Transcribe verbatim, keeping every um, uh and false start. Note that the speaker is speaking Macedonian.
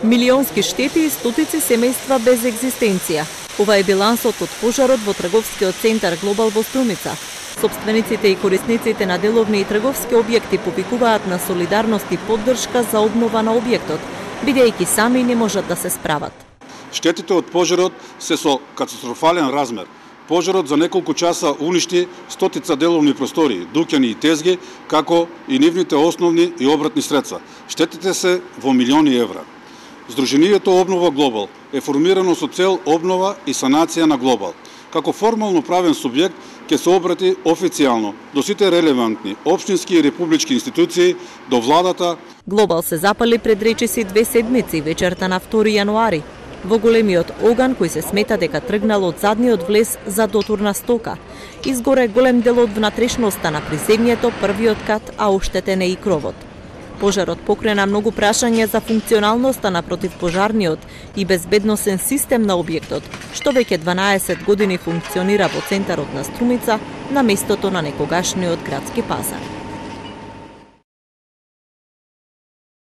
Милионски штети и стотици семејства без екзистенција. Ова е билансот од пожарот во трговскиот центар Глобал во Струмица. Сопствениците и корисниците на деловни и трговски објекти повикуваат на солидарност и поддршка за обнова на објектот, бидејќи сами не можат да се справат. Штетите од пожарот се со катастрофален размер. Пожарот за неколку часа уништи стотица деловни простори, дуќани и тезги, како и нивните основни и обратни средства. Штетите се во милиони евра. Сдруженијето Обнова Глобал е формирано со цел обнова и санација на Глобал. Како формално правен субјект ќе се обрати официјално до сите релевантни општински и републички институции, до владата. Глобал се запали пред речиси две седмици вечерта на втори јануари. Во големиот оган кој се смета дека тргнал од задниот влез за дотурна стока. Изгоре голем дел од внатрешноста на приземјето, првиот кат, а оштетен е и кровот. Пожарот покрена многу прашања за функционалноста на противпожарниот и безбедносен систем на објектот, што веќе дванаесет години функционира во центарот на Струмица на местото на некогашниот градски пазар.